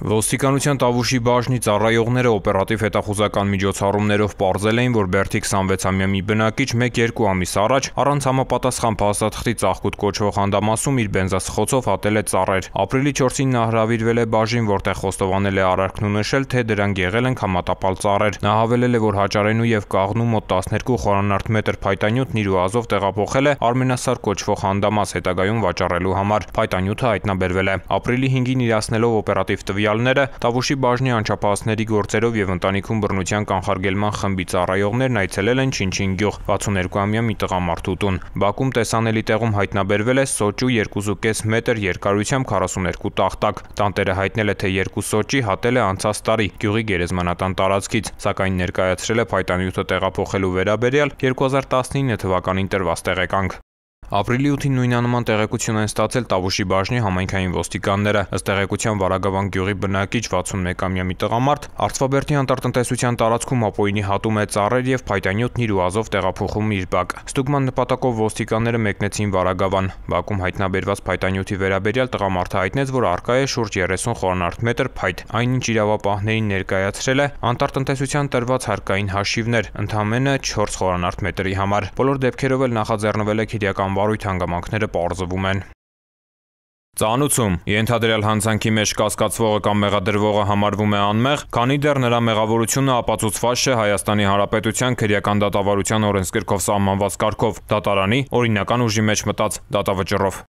Ոստիկանության Տավուշի բաժնի ծառայողները օպերատիվ հետախուզական միջոցառումներով պարզել էին, որ Բերդի 26-ամյա մի բնակիչ 1-2 ամիս առաջ առանց համապատասխան փաստաթղթի Ծաղկուտ կոչվող հանդամասում իր բենզասխոցով հատել է ծառեր։ Ապրիլի 4-ին նա հրավիրվել է բաժին, որտեղ խոստովանել է արարքն ու նշել, թե դրանք եղել են համատապալ ծառեր։ Նա հավելել է, որ հաճարենու եւ կաղնու մոտ 12 խորանարդ մետր փայտանյութն իր ուազով տեղափոխել է Արմենասար կոչվող հանդամաս հետագայում վաճառելու համար։ Փայտանյութը հայտնաբերվել է։ Ապրիլի 5-ին իրացնելով օպերատիվ տվյալները, Տավուշի բաժնի անչափահասների գործերով եւ ընտանիքում բռնության կանխարգելման խմբի ծառայողներն այցելել են Չինչին գյուղ 62-ամյա մի տղամարդու տուն։ Բակում տեսանելի տեղում հայտնաբերվել է սոճու 2.5 մետր երկարությամբ 42 տախտակ։ Տանտերը հայտնել է, թե 2 սոճի հատել է անցած տարի գյուղի գերեզմանատան տարածքից, սակայն ներկայացրել է փայտանյութը տեղափոխելու վերաբերյալ 2019 թվականին տրված տեղեկանք։ Ապրիլի 8-ին նույնանման տեղեկություն են ստացել Տավուշի բաժնի համայնքային ոստիկանները։ Ըստ տեղեկության Վարագավան գյուղի բնակիչ 61-ամյա մի տղամարդ Արցվաբերդի անտառտնտեսության տարածքում ապօրինի հատում է ծառեր եւ փայտանյութն իր ուազով տեղափոխում իր բակ։ Ստուգման նպատակով ոստիկանները մեկնեցին Վարագավան։ Բակում հայտնաբերված փայտանյութի վերաբերյալ տղամարդը հայտնեց, որ առկա է շուրջ 30 խորանարդ մետր փայտ։ Այնինչ իրավապահներին ներկայացրել է անտառտնտեսության տրված հարկային հաշիվներ, ընդամենը 4 խորանարդ մետրի համար։ Բոլոր դեպքերով էլ նախաձեռնվել է քրեական վարույթ, հանգամանքները պարզվում են։ Ծանուցում ենթադրյալ հանցանքի մեջ կասկածվողը կամ մեղադրվողը համարվում է անմեղ, քանի դեռ նրա մեղավորությունը ապացուցված չէ Հայաստանի Հանրապետության քրեական դատավարության օրենսգրքով սահմանված կարգով, դատարանի օրինական ուժի մեջ մտած դատավճռով։